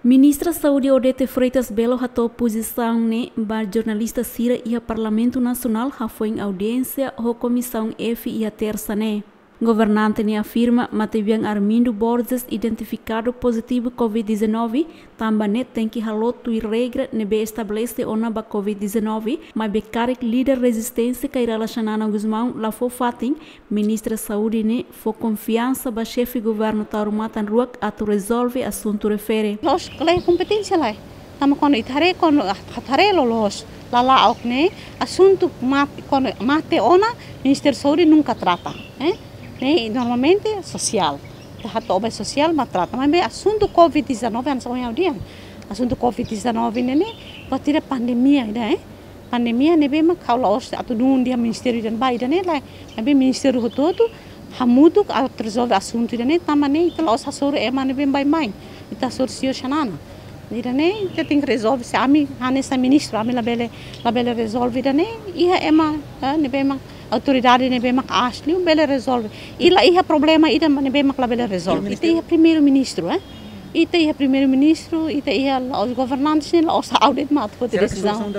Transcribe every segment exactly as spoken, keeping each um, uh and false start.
Ministra Saúde Odete Freitas Belo hato'o pozisaun ne'e ba jornalista sira iha Parlamentu Nasionál hafoin audiénsia ho Komisaun F iha Tersa ne'e. Governante ne'e afirma matebian Armindo Borges identifikadu pozitivu COVID dezanove, tanba ne'e tenke halo tuir regra ne'ebé estabelese ona ba COVID dezanove, maibé karik líder rezisténsia Kay Rala Xanana Gusmão la fó fatin, Ministra Saúde ne'e fó konfiansa ba xefe governu Taur Matan Ruak atu rezolve asuntu refere. La'ós, la iha kompeténsia lai. Tanba kuandu ita haree, kuandu ita haree loloos, lala ok ne'e, asuntu mate, kuandu mate ona, Ministériu Saúde nunka trata, eh? Ne'e normalmente sosiál. Ita hato'o ba sosiál mak trata. Maibé asuntu COVID dezanove, hanesan ohin ha'u dehan. Asuntu COVID dezanove ne'e ne'e, buat ida pandemia ida, eh? Pandemia ne'ebé mak ha'u la'ós atu dun dehan ministériu ida-ne'e ba ida-ne'e lae. Maibé ministériu hotu-hotu hamutuk atu rezolve asuntu ida-ne'e, tanba ne'e ita la'ós hasoru ema ne'ebé baibain. Ita hasoru señór Xanana. Ida-ne'e ita tenke rezolve, se ami hanesan ministru, ami labele, labele rezolve ida-ne'e, iha ema, eh, ne'ebé mak autoridade ne'ebé mak aas liu bele rezolve. I la iha problema ida ne'ebé mak labele rezolve. Ita iha primeiru-ministru, eh? Ita iha primeiru-ministru, ita iha la'ós governante, sin la'ós ha'u de'it mak atu foti desizaun.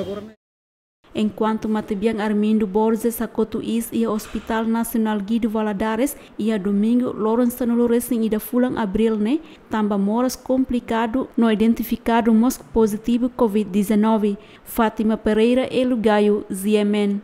Enkuantu matebian Armindo Borges hakotu iis iha Hospital Nasionál Guido Valadares iha Domingu, loron sanulu-resin-ida fulan Abríl ne'e, tanba moras komplikadu no identifikadu mós pozitivu COVID dezanove. Fátima Pereira, Elo Gayo, G M N.